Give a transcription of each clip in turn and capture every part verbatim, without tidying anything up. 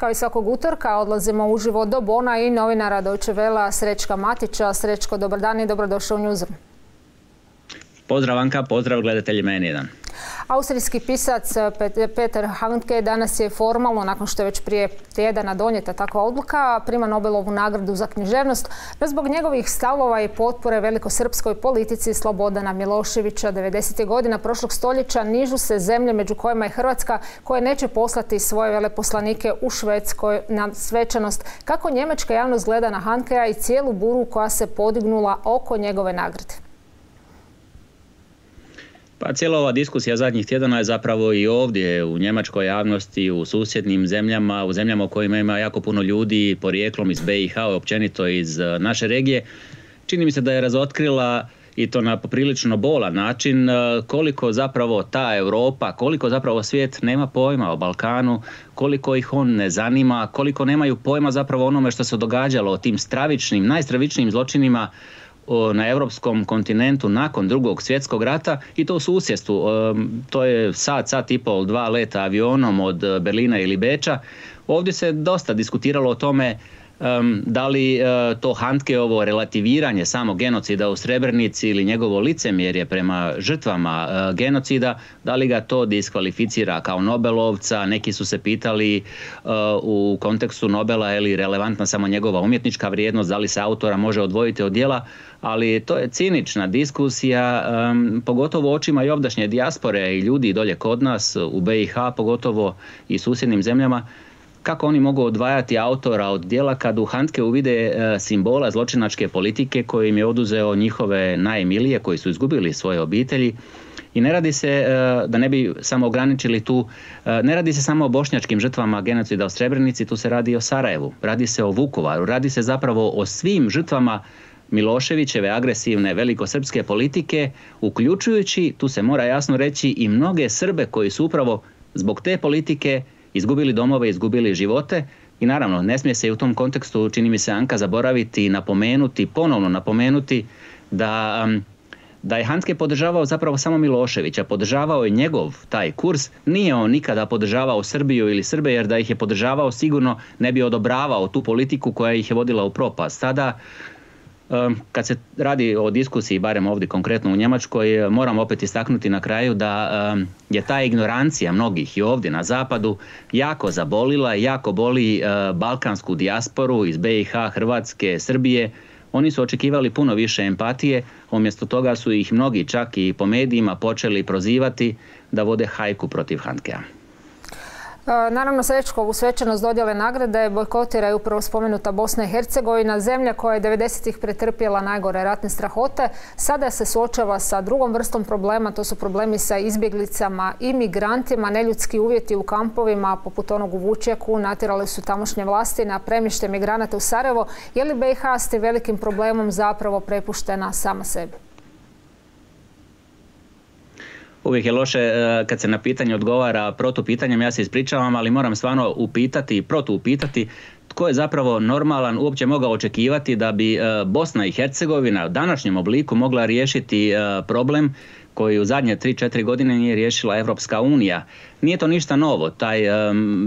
Kao i svakog utorka odlazimo uživo do Bona i novinara Deutsche Wellea Srećka Matića. Srećko, dobar dan i dobrodošao u Newsroom. Pozdrav Anka, pozdrav gledatelji N jedan. Austrijski pisac Peter Handke danas je formalno, nakon što je već prije tjedana donijeta takva odluka, prima Nobelovu nagradu za književnost zbog njegovih stavova i potpore velikosrpskoj politici Slobodana Miloševića. devedesetih godina prošlog stoljeća nižu se zemlje, među kojima je Hrvatska, koje neće poslati svoje veleposlanike u Švedskoj na svečanost. Kako njemačka javnost gleda na Handkea i cijelu buru koja se podignula oko njegove nagrade? Pa cijela ova diskusija zadnjih tjedana je zapravo i ovdje u njemačkoj javnosti, u susjednim zemljama, u zemljama u kojima ima jako puno ljudi porijeklom iz B i H, općenito iz naše regije. Čini mi se da je razotkrila, i to na poprilično bolan način, koliko zapravo ta Europa, koliko zapravo svijet nema pojma o Balkanu, koliko ih on ne zanima, koliko nemaju pojma zapravo onome što se događalo, o tim stravičnim, najstravičnijim zločinima na europskom kontinentu nakon drugog svjetskog rata, i to u susjedstvu. To je sat, sat i pol, dva leta avionom od Berlina ili Beča. Ovdje se dosta diskutiralo o tome da li to Handkeovo relativiranje samog genocida u Srebrenici ili njegovo licemjerje prema žrtvama genocida, da li ga to diskvalificira kao Nobelovca. Neki su se pitali u kontekstu Nobela je li relevantna samo njegova umjetnička vrijednost, da li se autora može odvojiti od djela, ali to je cinična diskusija, pogotovo očima i ovdašnje dijaspore i ljudi dolje kod nas u B i H, pogotovo i susjednim zemljama. Kako oni mogu odvajati autora od djela kad u Handkeu vide simbola zločinačke politike koji im je oduzeo njihove najmilije, koji su izgubili svoje obitelji. I ne radi se, da ne bi samo ograničili tu, ne radi se samo o bošnjačkim žrtvama genocida u Srebrenici, tu se radi i o Sarajevu, radi se o Vukovaru, radi se zapravo o svim žrtvama Miloševićeve agresivne velikosrpske politike, uključujući, tu se mora jasno reći, i mnoge Srbe koji su upravo zbog te politike izgubili domove, izgubili živote. I naravno, ne smije se i u tom kontekstu, čini mi se, Anka, zaboraviti i napomenuti, ponovno napomenuti da, da je Handke podržavao zapravo samo Miloševića, podržavao je njegov taj kurs, nije on nikada podržavao Srbiju ili Srbe, jer da ih je podržavao sigurno ne bi odobravao tu politiku koja ih je vodila u propast. Sada, kad se radi o diskusiji, barem ovdje konkretno u Njemačkoj, moram opet istaknuti na kraju da je ta ignorancija mnogih i ovdje na zapadu jako zabolila, jako boli balkansku dijasporu iz B i H, Hrvatske, Srbije. Oni su očekivali puno više empatije, umjesto toga su ih mnogi čak i po medijima počeli prozivati da vode hajku protiv Handkea. Naravno, Srećko, ovu svečanost dodjele nagrade bojkotira i upravo spomenuta Bosna i Hercegovina, zemlja koja je devedesetih pretrpjela najgore ratne strahote. Sada se suočava sa drugom vrstom problema, to su problemi sa izbjeglicama i migrantima. Neljudski uvjeti u kampovima, poput onog u Vučjaku, natjerali su tamošnje vlasti na premještaj migranata u Sarajevo. Je li B i H s tim velikim problemom zapravo prepuštena sama sebi? Uvijek je loše kad se na pitanje odgovara protupitanjem, ja se ispričavam, ali moram stvarno upitati i protuupitati tko je zapravo normalan uopće mogao očekivati da bi Bosna i Hercegovina u današnjem obliku mogla riješiti problem koji u zadnje tri četiri godine nije riješila Evropska unija. Nije to ništa novo, taj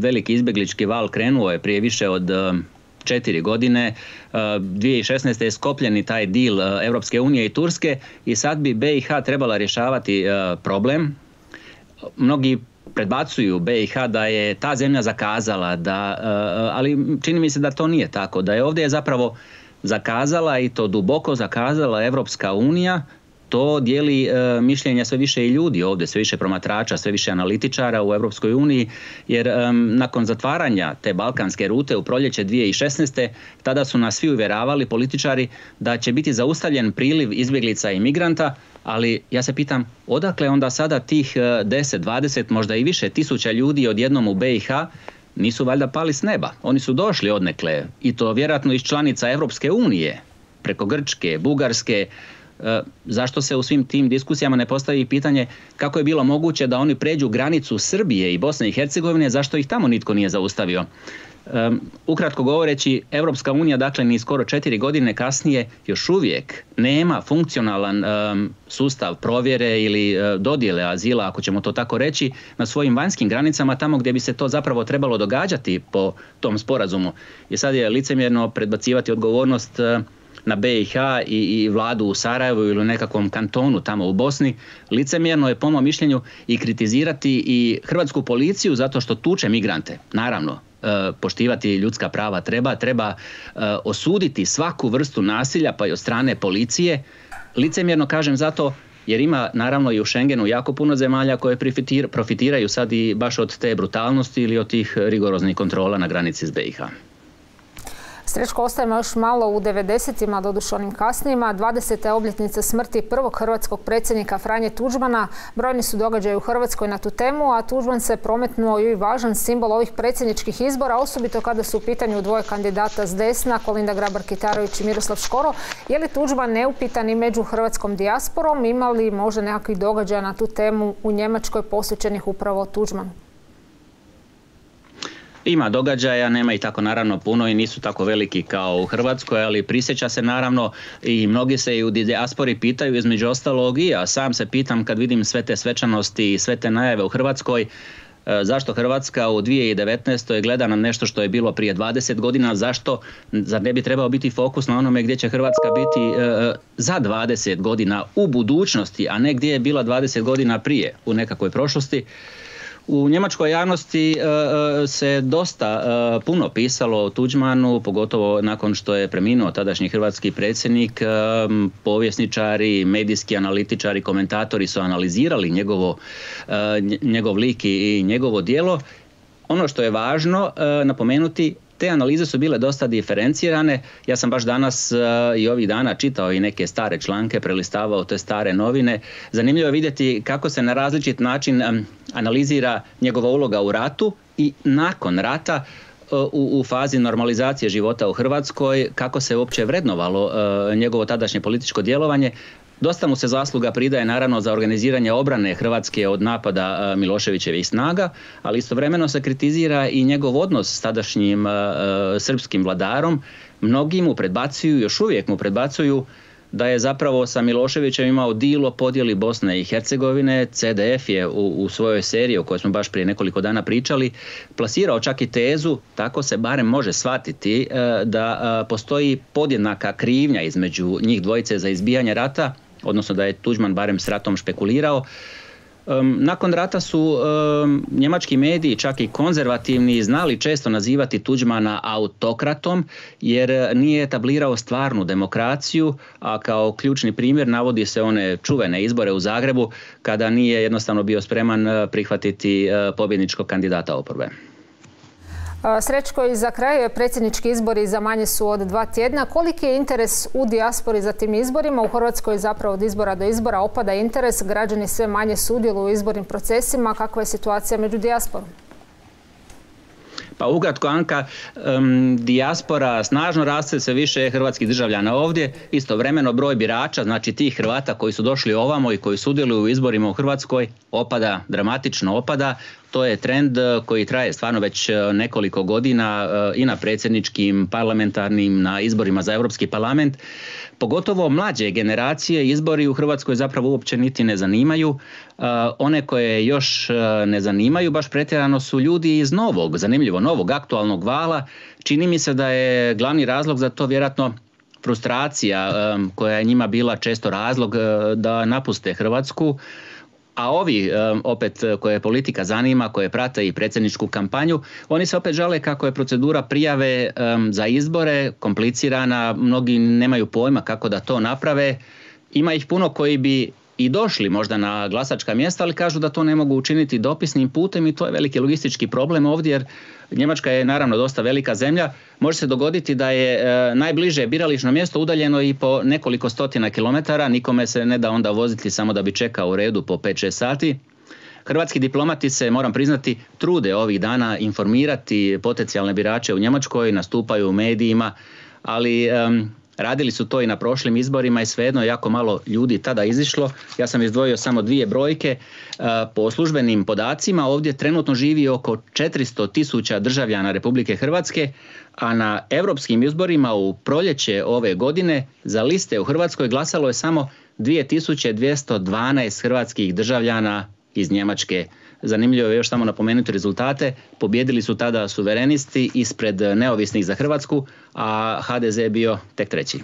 veliki izbjeglički val krenuo je prije više od četiri godine. dvije tisuće šesnaeste. je sklopljen taj deal Europske unije i Turske i sad bi B i H trebala rješavati problem. Mnogi predbacuju B i H da je ta zemlja zakazala, da, ali čini mi se da to nije tako, da je ovdje zapravo zakazala, i to duboko zakazala, Europska unija. To dijeli e, mišljenja sve više i ljudi ovdje, sve više promatrača, sve više analitičara u Europskoj uniji, jer e, nakon zatvaranja te balkanske rute u proljeće dvije tisuće šesnaeste. tada su nas svi uvjeravali, političari, da će biti zaustavljen priliv izbjeglica i migranta, ali ja se pitam odakle onda sada tih deset, dvadeset, možda i više tisuća ljudi odjednom u B i H, nisu valjda pali s neba. Oni su došli odnekle, i to vjerojatno iz članica Europske unije, preko Grčke, Bugarske. Zašto se u svim tim diskusijama ne postavi pitanje kako je bilo moguće da oni pređu granicu Srbije i Bosne i Hercegovine, zašto ih tamo nitko nije zaustavio? Um, ukratko govoreći, Europska unija, dakle, ni skoro četiri godine kasnije još uvijek nema funkcionalan um, sustav provjere ili uh, dodjele azila, ako ćemo to tako reći, na svojim vanjskim granicama, tamo gdje bi se to zapravo trebalo događati po tom sporazumu. I sad je licemjerno predbacivati odgovornost uh, na B i H i, i vladu u Sarajevu ili u nekakvom kantonu tamo u Bosni. Licemjerno je po mom mišljenju i kritizirati i hrvatsku policiju zato što tuče migrante. Naravno, poštivati ljudska prava treba, treba osuditi svaku vrstu nasilja pa i od strane policije. Licemjerno kažem zato jer ima naravno i u Schengenu jako puno zemalja koje profitiraju sad i baš od te brutalnosti ili od tih rigoroznih kontrola na granici s B i H. Srećko, ostajemo još malo u devedesetima, doduše onim kasnijima. dvadeseta obljetnica smrti prvog hrvatskog predsjednika Franje Tuđmana. Brojni su događaji u Hrvatskoj na tu temu, a Tuđman se prometnuo i važan simbol ovih predsjedničkih izbora, osobito kada su u pitanju dvoje kandidata s desna, Kolinda Grabar-Kitarović i Miroslav Škoro. Je li Tuđman neupitan i među hrvatskom dijasporom? Ima li možda nekakvih događaja na tu temu u Njemačkoj posvećenih upravo Tuđmanu? Ima događaja, nema ih tako naravno puno i nisu tako veliki kao u Hrvatskoj, ali prisjeća se naravno i mnogi se i u dijaspori pitaju, između ostalog i ja sam se pitam kad vidim sve te svečanosti i sve te najave u Hrvatskoj, zašto Hrvatska u dvije tisuće devetnaestoj gleda na nešto što je bilo prije dvadeset godina, zašto, zar ne bi trebao biti fokus na onome gdje će Hrvatska biti e, za dvadeset godina u budućnosti, a ne gdje je bila dvadeset godina prije u nekakvoj prošlosti. U njemačkoj javnosti uh, se dosta uh, puno pisalo o Tuđmanu, pogotovo nakon što je preminuo tadašnji hrvatski predsjednik. Um, povjesničari, medijski analitičari, komentatori su analizirali njegovo, uh, njegov lik i njegovo djelo. Ono što je važno uh, napomenuti, te analize su bile dosta diferencirane. Ja sam baš danas uh, i ovih dana čitao i neke stare članke, prelistavao te stare novine. Zanimljivo je vidjeti kako se na različit način um, analizira njegova uloga u ratu i nakon rata uh, u, u fazi normalizacije života u Hrvatskoj, kako se uopće vrednovalo uh, njegovo tadašnje političko djelovanje. Dosta mu se zasluga pridaje naravno za organiziranje obrane Hrvatske od napada Miloševićevih snaga, ali istovremeno se kritizira i njegov odnos s tadašnjim uh, srpskim vladarom. Mnogi mu predbacuju, još uvijek mu predbacuju da je zapravo sa Miloševićem imao deal o podjeli Bosne i Hercegovine. C D F je u, u svojoj seriji o kojoj smo baš prije nekoliko dana pričali plasirao čak i tezu, tako se barem može shvatiti, uh, da uh, postoji podjednaka krivnja između njih dvojice za izbijanje rata, odnosno da je Tuđman barem s ratom špekulirao. Um, nakon rata su um, njemački mediji, čak i konzervativni, znali često nazivati Tuđmana autokratom jer nije etablirao stvarnu demokraciju, a kao ključni primjer navodi se one čuvene izbore u Zagrebu kada nije jednostavno bio spreman prihvatiti uh, pobjedničkog kandidata oporbe. Srećko, i za kraj predsjednički izbori za manje su od dva tjedna. Koliki je interes u dijaspori za tim izborima? U Hrvatskoj zapravo od izbora do izbora opada interes, građani sve manje sudjeluju u izbornim procesima. Kakva je situacija među dijasporom? Pa ukratko, Anka, um, dijaspora snažno raste, sve više hrvatskih državljana ovdje. Istovremeno broj birača, znači tih Hrvata koji su došli ovamo i koji sudjeluju u izborima u Hrvatskoj, opada, dramatično opada. To je trend koji traje stvarno već nekoliko godina i na predsjedničkim, parlamentarnim, na izborima za Europski parlament. Pogotovo mlađe generacije izbori u Hrvatskoj zapravo uopće niti ne zanimaju. One koje još ne zanimaju baš pretjerano su ljudi iz novog, zanimljivo, novog aktualnog vala. Čini mi se da je glavni razlog za to vjerojatno frustracija koja je njima bila često razlog da napuste Hrvatsku. A ovi, opet, koje politika zanima, koje prate i predsjedničku kampanju, oni se opet žale kako je procedura prijave za izbore komplicirana, mnogi nemaju pojma kako da to naprave. Ima ih puno koji bi i došli možda na glasačka mjesta, ali kažu da to ne mogu učiniti dopisnim putem i to je veliki logistički problem ovdje jer Njemačka je naravno dosta velika zemlja. Može se dogoditi da je e, najbliže birališno mjesto udaljeno i po nekoliko stotina kilometara, nikome se ne da onda voziti samo da bi čekao u redu po pet šest sati. Hrvatski diplomati se, moram priznati, trude ovih dana informirati potencijalne birače u Njemačkoj, nastupaju u medijima, ali um, Radili su to i na prošlim izborima i svejedno jako malo ljudi tada izišlo. Ja sam izdvojio samo dvije brojke. Po službenim podacima ovdje trenutno živi oko četiristo tisuća državljana Republike Hrvatske, a na europskim izborima u proljeće ove godine za liste u Hrvatskoj glasalo je samo dvije tisuće dvjesto dvanaest hrvatskih državljana iz Njemačke. Zanimljivo je još samo napomenuti rezultate. Pobjedili su tada suverenisti ispred neovisnih za Hrvatsku, a ha de ze je bio tek treći.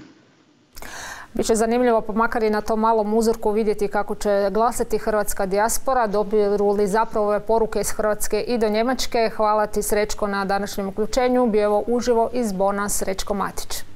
Biće zanimljivo, pa makar i na tom malom uzorku vidjeti kako će glasati hrvatska dijaspora. Dobiru li zapravo ove poruke iz Hrvatske i do Njemačke. Hvala ti, Srećko, na današnjem uključenju. Bio je uživo iz Bona Srećko Matić.